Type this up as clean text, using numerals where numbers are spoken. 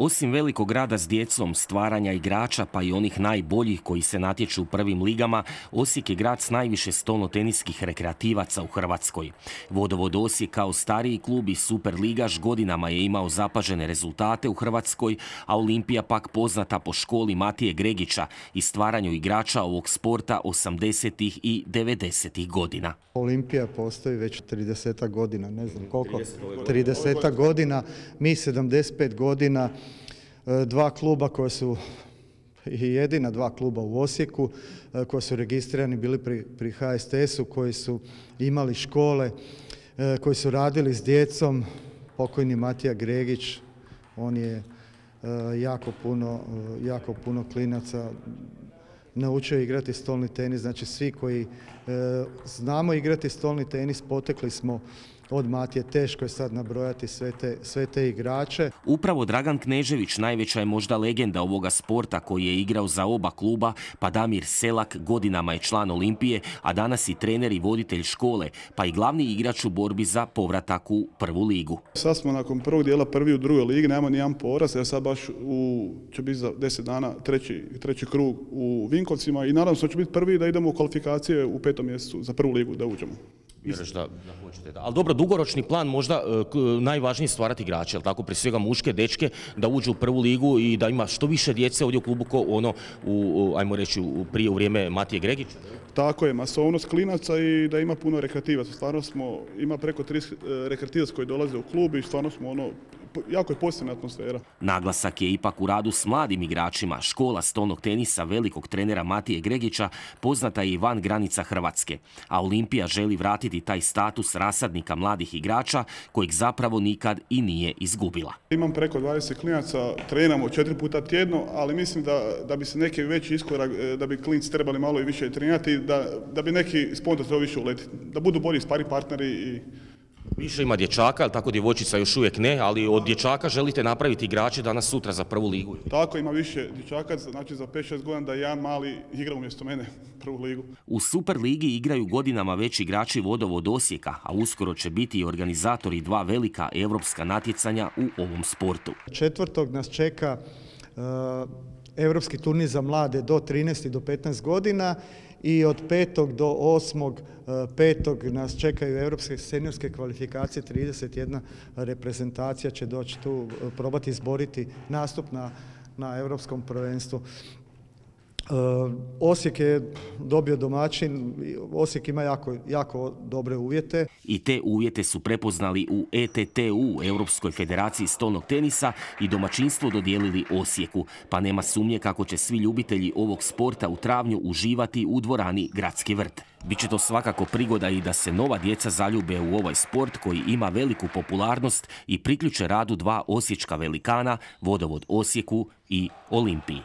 Osim velikog grada s djecom, stvaranja igrača pa i onih najboljih koji se natječu u prvim ligama, Osijek je grad s najviše stolnoteniskih rekreativaca u Hrvatskoj. Vodovod Osijek kao stariji klub i superligaš godinama je imao zapažene rezultate u Hrvatskoj, a Olimpija pak poznata po školi Matije Gregića i stvaranju igrača ovog sporta 80. i 90. godina. Olimpija postoji već 30 godina, ne znam koliko, 30 godina, mi 75 godina, dva kluba koja su i jedina dva kluba u Osijeku koji su registrirani bili pri HSTS-u, koji su imali škole, koji su radili s djecom. Pokojni Matija Gregić, on je jako puno klinaca naučio igrati stolni tenis. Znači svi koji znamo igrati stolni tenis potekli smo od Matije. Teško je sad nabrojati sve te igrače. Upravo Dragan Knežević najveća je možda legenda ovoga sporta koji je igrao za oba kluba, pa Damir Selak godinama je član Olimpije, a danas i trener i voditelj škole, pa i glavni igrač u borbi za povratak u prvu ligu. Sad smo nakon prvog dijela prvi u drugoj ligi, nemamo nijedan poraz, ja sad baš će biti za 10 dana treći krug u Vinkovcima i nadam se da će biti prvi da idemo u kvalifikacije u 5. mjesecu za prvu ligu da uđemo. Vjeruješ da hoćete. Ali dobro, dugoročni plan možda najvažnije stvarati igrače, jel tako, prije svega muške, dečke, da uđu u prvu ligu i da ima što više djece ovdje u klubu ajmo reći, prije u vrijeme Matije Gregića. Tako je, masovnost klinaca i da ima puno rekreativaca. Stvarno ima preko 30 rekreativaca koji dolaze u klub i stvarno smo jako je pozitivna atmosfera. Naglasak je ipak u radu s mladim igračima. Škola stolnog tenisa velikog trenera Matije Gregića poznata je i van granica Hrvatske, a Olimpija želi vratiti taj status rasadnika mladih igrača kojeg zapravo nikad i nije izgubila. Imam preko 20 klinaca, trenamo 4 puta tjedno, ali mislim da bi se neki veći iskorak, da bi klinci trebali malo i više trenirati, da bi neki spontan trebao više uletiti, da budu bolji spari partneri i više ima dječaka, ali tako djevojčica još uvijek ne, ali od dječaka želite napraviti igrače danas sutra za prvu ligu. Tako, ima više dječaka, znači za 5-6 godina da jedan mali igra umjesto mene prvu ligu. U Superligi igraju godinama već igrači Vodovod Osijeka, a uskoro će biti i organizatori dva velika europska natjecanja u ovom sportu. 4. nas čeka europski turnir za mlade do 13 do 15 godina i od 5. do 8.5. nas čekaju europske seniorske kvalifikacije, 31 reprezentacija će doći tu probati izboriti nastup na europskom prvenstvu. Osijek je dobio domaćin, Osijek ima jako dobre uvjete. I te uvjete su prepoznali u ETTU, Europskoj federaciji stolnog tenisa, i domaćinstvo dodijelili Osijeku, pa nema sumnje kako će svi ljubitelji ovog sporta u travnju uživati u dvorani Gradski vrt. Biće to svakako prigoda i da se nova djeca zaljube u ovaj sport koji ima veliku popularnost i priključe radu dva osječka velikana, Vodovod Osijeku i Olimpiji.